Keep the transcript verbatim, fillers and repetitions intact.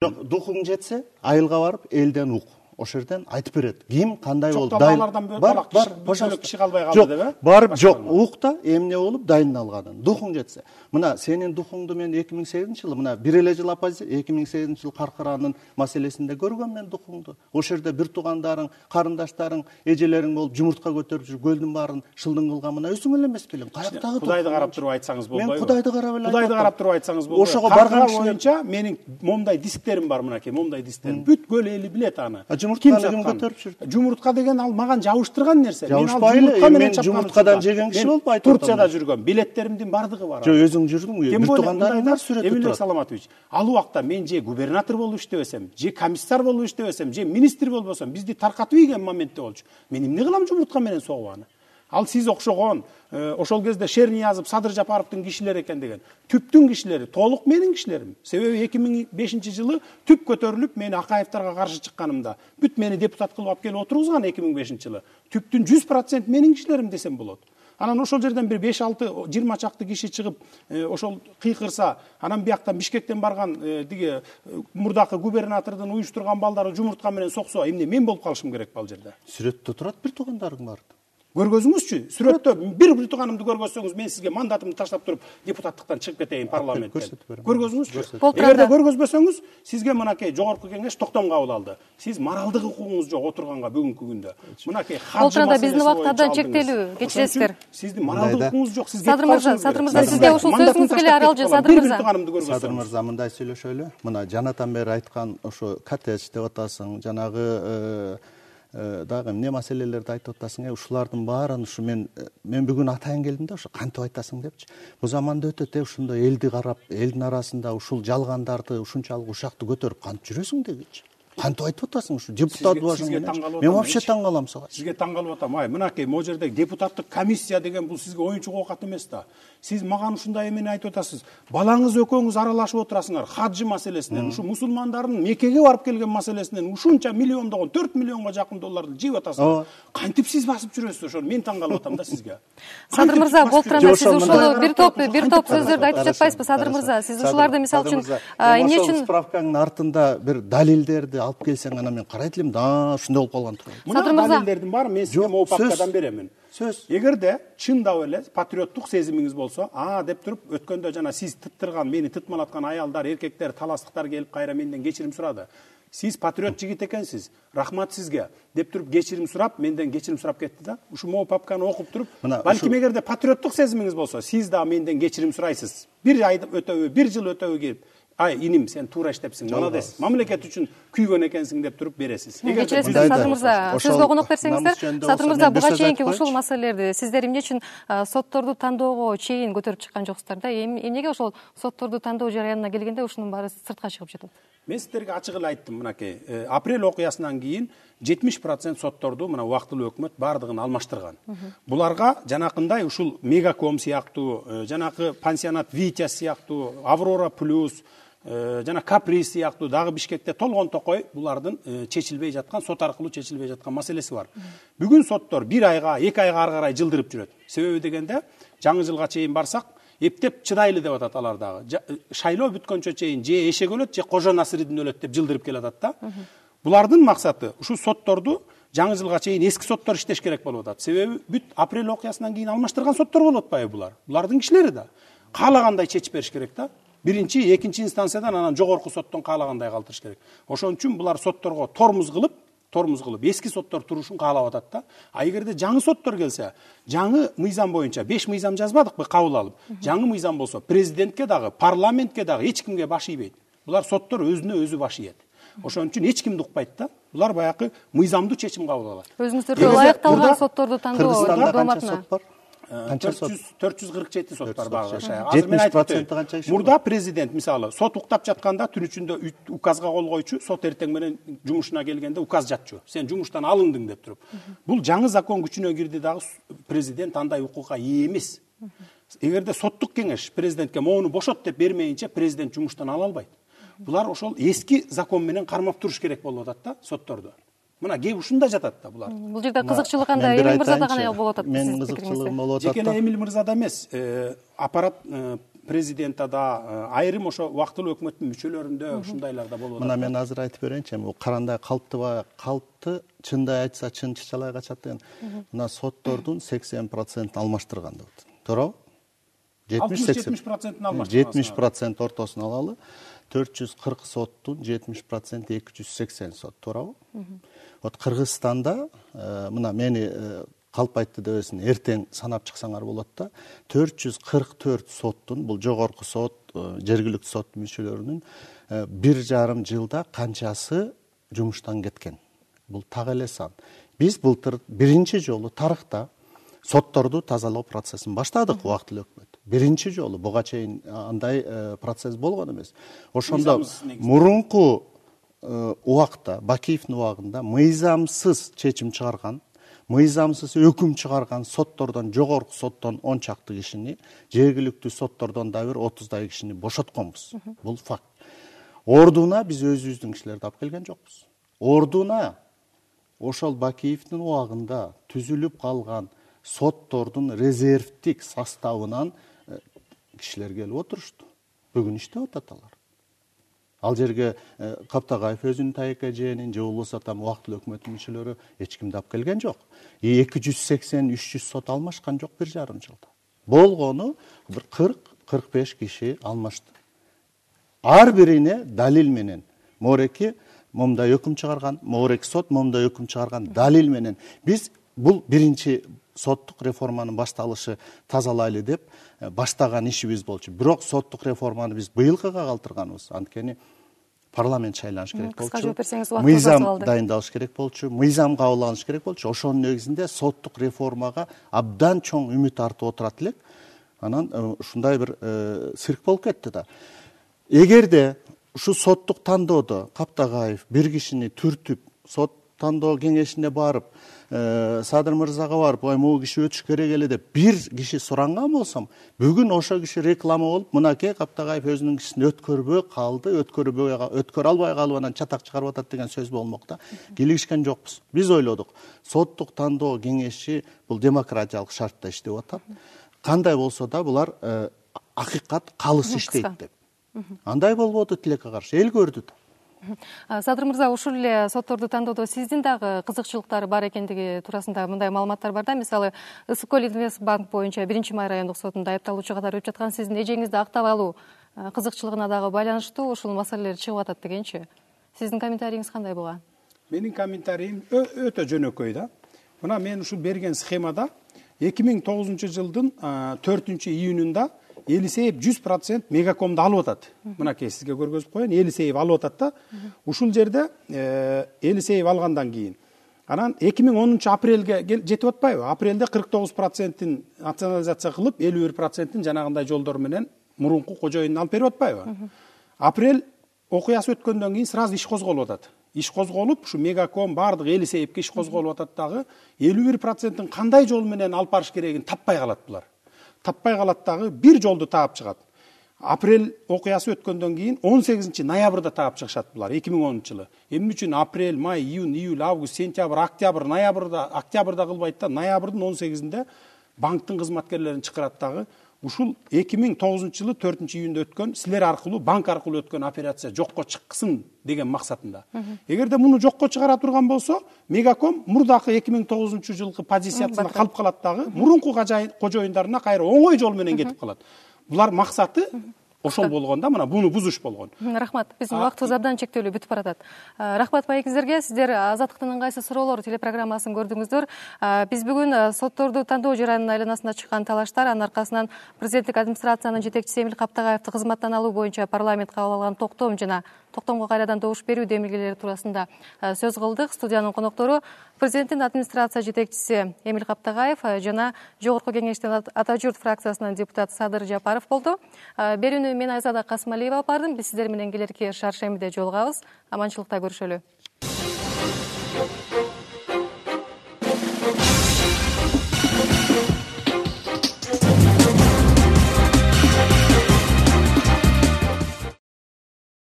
Жок, духуң жетсе, айылга барып, элден ук. Ошол жерден айтып берет. Ким кандай болду? Алардан бөлөк киши калбай калды деп э? Барып жок, укта эмне болуп дайындалганын. Духуң жетсе. Мына сенин духуңду мен эки миң сегизинчи жылы, мына бир эле жыл оппозиция, эки миң сегизинчи жылы Каркыранын маселесинде көргөм мен духуңду. Ошол жерде бир туугандарың, карындаштарың, эжелериң болуп жумуртка көтөрүп жүрүп, көлдүн баарын шылдың кылган мына өзүң эле эмес белең. Каяктагы Кудайды карап туруп айтсаңыз болбойбу? Мен Кудайды карап эле. Кудайды карап туруп айтсаңыз болбойбу? Ошого барган боюнча менин момундай дисктерим бар мынакей, момундай дисктерим. Бүт көл эли билет аны. Жумуртканы ким көтөрүп жүрдү? Жумуртка деген ал маган жабыштырган нерсе. Мен ал жумуртка менен чапкан жеген киши болуп айтып атам. Турцияда жүргөм. Билеттеримдин бардыгы бар. Жок, өзүң жүрдүң, бир туугандарың бар сүрөттө турат. Эмилбек Саламатович, ал убакта мен же губернатор болуп иштебесем, же комиссар болуп иштебесем, же министр болбосом, бизди таркатып ийген моментте болчу. Мен эмне кылам жумуртка менен согуп аны? Ал сиз окшогон, ошол кезде Шерниязов, Садыр Жапаровдун кишилери экен деген. Түптүн кишилери, толук менин кишилерим. Себеби эки миң бешинчи жылы түп көтөрүлүп, мени Акаевтерге каршы чыкканымда, бүт мени депутат кылып алып келип отургузган эки миң бешинчи жылы. Түптүн жүз процент менин кишилерим десем болот. Анан ошол жерден бир беш алты жыйырма чакты киши чыгып, ошол кыйкырса, анан бияктан Бишкектен барган диги мурдакы губернатордун уюштурган балдары жумуртка менен соксо, эмне мен болуп калышым керек ал жерде? Сүрөттө турат бир туугандарың бар. Көргөзүңүзчү, сүрөттө бир бир тууганымды көргөзсөңүз, мен сизге мандатымды таштап туруп, депутаттыктан чыгып кетейин парламенттен. Көргөзүңүзчү. Эгерде көргөзбөсөңүз, сизге мынакей жогорку кеңеш токтом кабыл алды. Сиз моралдык укугуңуз жок отурганга бүгүнкү күндө. Мынакей хаджы маселеси боюнча биздин убактардан чектелүү, кечиресиздер. Сиздин моралдык укугуңуз жок, сиз Садыр мырза, Садыр мырза, сизге ушул сөзүңүз келе аралжы, Садыр мырза. Садыр мырза, мындай сүйлөшөлү. Мына жанатан бери айткан ошо коттедж деп атасың, жанагы дагы эмне маселелерди айтып атасың, ушулардын баарын ушу мен мен бүгүн атайын келдим да, ошо кантип айтасың депчи. Бул заманда өтөт, ушундай элди карап, элдин арасында ушул жалгандарды, ушунчалык ушакты көтөрүп кантип жүрөсүң дегичи. Кантип айтып атасың ушу депутат башың менен? Мен вообще таң калам сага. Сизге таң калып атам. Ай, мынакей могу жерде депутаттык комиссия деген бул сизге оюнчук оокат эмес да. Сиз маган ушундай эмени айтып атасыз. Балаңыз экөөңүз аралашып отурасыңар хаджы маселесинен, ушу мусулмандардын Меккеге барып келген маселесинен ушунча миллиондогон, төрт миллионго жакын долларды жеп атасыңар. Кантип сиз басып жүрөсүз ошону? Мен таң калып атам да сизге. Садыр мырза, болтуранда сиз ушул бир топ бир топ сөздөрдү айтып жатпайсызбы, Садыр мырза? Сиз ушуларды мисалы үчүн эмне үчүн справканын артында бир далилдерди алып келсең, анан мен карайт элем, да, ушундай болуп калган турат. Мына далилдердин баары мен сизге могу папкадан беремин. Сөз. Эгерде чындап эле патриоттук сезимиңиз болсо, а деп туруп өткөндө жана сиз тыттырган, мени тытмалаткан аялдар, эркектер, таластыктар келип кайра менден кечирим сурады. Сиз патриот жигит экенсиз. Рахмат сизге деп туруп кечирим сурап, менден кечирим сурап кетти да. Ушу могу папканы окуп туруп, балким эгерде патриоттук сезимиңиз болсо, сиз да менден кечирим сурайсыз. Бир ай өтөбү, бир жыл өтөбү келип, ай иним сен туура иштепсиң, молодец, мамлекет үчүн күйгөн экенсиң деп туруп бересиз. Кечиресиз, Садыр мырза, сөзгө конок берсеңиздер. Садыр мырза, буга чейинки ушул маселелерди сиздер эмне үчүн сотторду тандоого чейин көтөрүп чыккан жоксуздар да? Эмнеге ошол сотторду тандоо жарыянына келгенде ушунун баары сыртка чыгып жатат? Мен сиздерге ачык эле айттым, мынакей, апрель окуясынан кийин жетимиш процент сотторду мына убактылуу өкмөт бардыгын алмаштырган. Буларга жанакындай ушул Мегаком сыяктуу, жанакы пансионат Витязь сыяктуу, Аврора плюс, жана Каприз сыяктуу дагы Бишкекте толгон токой булардын чечилбей жаткан, сот аркылуу чечилбей жаткан маселеси бар. Бүгүн соттор бир айга, эки айга ары карай жылдырып жүрөт. Себеби дегенде, жаңы жылга чейин барсак, эптеп чыдайлы деп атат алар дагы. Шайлоо бүткөнчө чейин же эшек өлөт, же Кожо Насыридин өлөт деп жылдырып келатат да. Булардын максаты ушу сотторду жаңы жылга чейин эски соттор иштеш керек болуп атат. Себеби бүт апрель окуясынан кийин алмаштырган соттор болуп атпайбы булар? Булардын кишилери да. Каалагандай чечип бериш керек да. Биринчи, экинчи инстанциядан анан жогорку соттон каалагандай калтырыш керек. Ошон үчүн булар сотторго тормуз кылып, тормуз кылып эски соттор турушун каалап атат да. А эгерде жаңы соттор келсе, жаңы мыйзам боюнча беш мыйзам жазбадыкпы кабыл алып. Жаңы мыйзам болсо президентке дагы, парламентке дагы эч кимге баш ийбейт. Булар соттор өзүнө өзү баш ийет. Ошон үчүн эч кимди укпайт да. Булар баягы мыйзамдуу чечим кабыл алат. Өзүңүздөргө ылайыкталган сотторду тандоо дооматына. төрт жүз кырк жети сот бар багы шая. Азыр мен айтып, мурда президент мисалы сот уктап жатканда түн ичинде указга кол койчу, сот эртең менен жумушуна келгенде указ жатчу. Сен жумуштан алындың деп туруп. Бул жаңы закон күчүнө кирди дагы президент андай укукка ээ эмес. Эгерде соттук кеңеш президентке моуну бошот деп бермейинче президент жумуштан ала албайт. Булар ошол эски закон менен кармап туруш керек болуп атат да сотторду. Мына кеп ушунда жатат да булар. Бул жерде кызыкчылык кандай? Эмил мырзада кандай болуп атат? Мен кызыкчылыгым болуп атат. Жекеле Эмил мырзада эмес, аппарат президентте да, айрым ошо убактылуу өкмөттүн мүчөлөрүндө ушундайлар да болуп атат. Мына мен азыр айтып берейинчи, бул карандай калптыбай калпты, чындай айтса чын чычалай качат деген. Мына соттордун сексен процентин алмаштырган деп атат. Туурабы? жетимиш процентин алмаштырган. жетимиш процент ортосун алалы. төрт жүз кырк соттун жетимиш проценти эки жүз сексен сот, туурабы? Вот Кыргызстанда мына мени калп айтты дебесин эртең санап чыксаңар болот да, төрт жүз кырк төрт соттун, бул жогорку сот, жергиликтүү сот мүчөлөрүнүн бир жарым жылда канчасы жумуштан кеткен. Бул так эле сан. Биз былтыр биринчи жолу тарыхта сотторду тазалоо процессин баштадык убактылуу өкмөт. Биринчи жолу буга чейин андай процесс болгон эмес. Ошондо мурунку убакта, Бакиевдин убагында мыйзамсыз чечим чыгарган, мыйзамсыз өкүм чыгарган соттордон, жогорку соттон он чакты кишини, жергиликтүү соттордон да бир отуздай кишини бошотконбуз. Бул факт. Ордуна биз өзүбүздүн кишилерди алып келген жокпуз. Ордуна ошол Бакиевдин убагында түзүлүп калган соттордун резервдик составынан кишилер келип отурушту. Бүгүн иштеп атат алар. Ал жерге Каптагаев өзүнүн тайека жээнин же болбосо там убактылуу өкмөттүн мүчөлөрү эч кимди алып келген жок. эки жүз сексен үч жүз сот алмашкан жок бир жарым жылда. Болгону бир кырк кырк беш киши алмашты. Ар бирине далил менен мореки момундай өкүм чыгарган, мореки сот момундай өкүм чыгарган далил менен биз бул биринчи соттук реформанын башталышы тазалайлы деп баштаган ишибиз болчу. Бирок соттук реформаны биз быйылкыга калтырганбыз. Анткени парламент шайланыш керек болчу. Мыйзам дайындалыш керек болчу. Мыйзам кабыл алыныш керек болчу. Ошонун негизинде соттук реформага абдан чоң үмүт артып отурат элек. Анан ушундай бир цирк болуп кетти да. Эгерде ушу соттук тандоодо Каптагаев бир кишини түртүп, сот тандоо кеңешине барып, Садыр мырзага барып, ой могу киши өтүш керек эле деп бир киши суранган болсом, бүгүн ошо киши реклама болуп, мынакей Каптагаев өзүнүн кишисин өткөрбөй калды, өткөрбөй өткөрө албай калып анан чатак чыгарып атат деген сөз болмок да. Кийлигишкен жокпуз. Биз ойлодук, соттук тандоо кеңеши бул демократиялык шартта иштеп атат. Кандай болсо да булар акыйкат калыс иштейт деп. Андай болбоду тилекке каршы, эл көрдү да. Садыр мырза, ушул эле сотторду тандоодо сиздин дагы кызыкчылыктары бар экендиги туурасында мындай маалыматтар бар да. Мисалы, Ысык көл Инвестбанк боюнча биринчи май райондук сотунда айыпталуучу катары өтүп жаткан сиздин эжеңизди актап алуу кызыкчылыгына дагы байланыштуу ушул маселелер чыгып атат дегенчи. Сиздин комментарийиңиз кандай болгон? Менин комментариим өтө жөнөкөй да. Мына мен ушул берген схемада эки миң тогузунчу жылдын төртүнчү июнунда Елисеев жүз процент мегакомду алып атат. Мынакей сизге көргөзүп коеюн. Елисеев алып атат да. Ушул жерде Елисеев алгандан кийин анан эки миң онунчу апрелге жетип атпайбы? Апрелде кырк тогуз процентин национализация кылып, элүү бир процентин жанагындай жолдор менен мурунку кожоюнуна алып берип атпайбы? Апрель окуясы өткөндөн кийин сразу иш козголуп атат. Иш козголуп, ушу мегаком бардык Елисеевке иш козголуп атат дагы элүү бир процентин кандай жол менен алып барыш керегин таппай калат булар. Таппай калат дагы бир жолду таап чыгат. Апрель окуясы өткөндөн кийин он сегизинчи ноябрда таап чыгышат булар эки миң онунчу жылы. Эмне үчүн апрель, май, июнь, июль, август, сентябрь, октябрь, ноябрда, октябрда кылбайт да, ноябрдын он сегизинде банктын кызматкерлерин чакырат дагы ушул эки миң тогузунчу жылы төртүнчү июнда өткөн, силер аркылуу, банк аркылуу өткөн операция жокко чыксын деген максатында. Эгерде муну жокко чыгара турган болсо, мегаком мурдакы эки миң тогузунчу жылкы позициясына калып калат дагы, мурунку кожоюндарына кайра оңой жол менен кетип калат. Булар максаты ошол болгон да, мына буну бузуш болгон. Рахмат. Биздин убактыбыз абдан чектелүү, бүтүп баратат. Рахмат байекеңиздерге. Сиздер Азаттыктын ыңгайсыз суроолор телепрограммасын көрдүңүздөр. Биз бүгүн сотторду тандоо жаранынын айланасында чыккан талаштар, анын аркасынан президенттик администрациянын жетекчиси Эмил Каптагаевди кызматтан алуу боюнча парламент кабыл алган токтом жана токтомго кайрадан добуш берүү демилгелери туурасында сөз кылдык. Студиянын коноктору президенттин администрация жетекчиси Эмил Каптагаев жана жогорку кеңештин Ата журт фракциясынын депутаты Садыр Жапаров болду. Берүүнү мен Айзада Касымалиева алып бардым. Биз сиздер менен келерки шаршембиде жолугабыз. Аманчылыкта көрүшөлү.